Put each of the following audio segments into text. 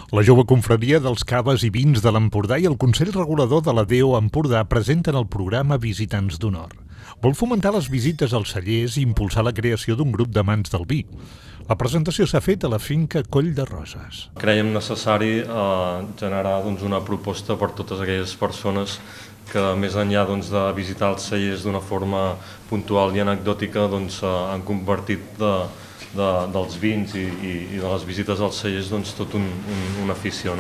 La jove confraria dels caves i vins de l'Empordà i el Consell Regulador de la DO Empordà presenten el programa Visitants d'Honor. Vol fomentar les visites als cellers i impulsar la creació d'un grup d'amants del vi. La presentació s'ha fet a la finca Coll de Roses. Creiem necessari generar una proposta per totes aquelles persones que, més enllà de visitar els cellers d'una forma puntual i anecdòtica, han convertit dels vins i de les visites als cellers tot una afició.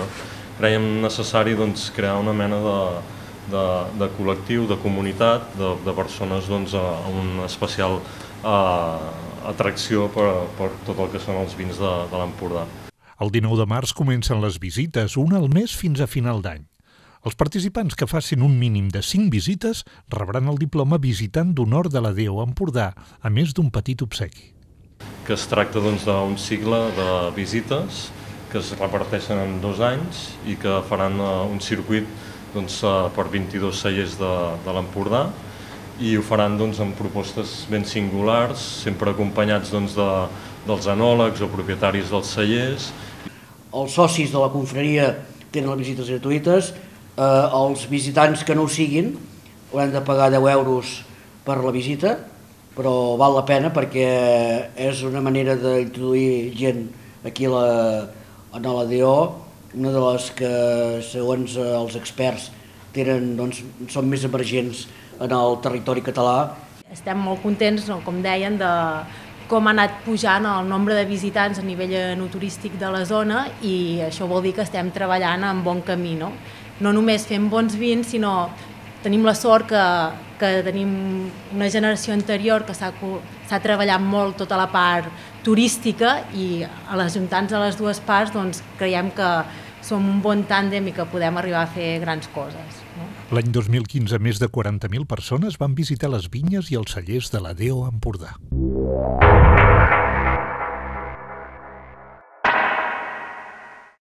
Creiem necessari crear una mena de col·lectiu, de comunitat, de persones amb una especial atracció per tot el que són els vins de l'Empordà. El 19 de març comencen les visites, una al mes fins a final d'any. Els participants que facin un mínim de 5 visites rebran el diploma Visitant d'Honor de la DO Empordà, a més d'un petit obsequi. Que es tracta d'un cicle de visites que es reparteixen en 2 anys i que faran un circuit per 22 cellers de l'Empordà, i ho faran amb propostes ben singulars, sempre acompanyats dels enòlegs o propietaris dels cellers. Els socis de la confraria tenen les visites gratuïtes, els visitants que no ho siguin hauran de pagar 10 euros per la visita, però val la pena perquè és una manera d'introduir gent aquí a la DO, una de les que, segons els experts, són més emergents en el territori català. Estem molt contents, com deien, de com ha anat pujant el nombre de visitants a nivell enoturístic de la zona, i això vol dir que estem treballant en bon camí. No només fem bons vins, sinó tenim la sort que tenim una generació anterior que s'ha treballat molt tota la part turística, i a les ajuntats de les dues parts creiem que som un bon tàndem i que podem arribar a fer grans coses. L'any 2015, més de 40.000 persones van visitar les vinyes i els cellers de la DO Empordà.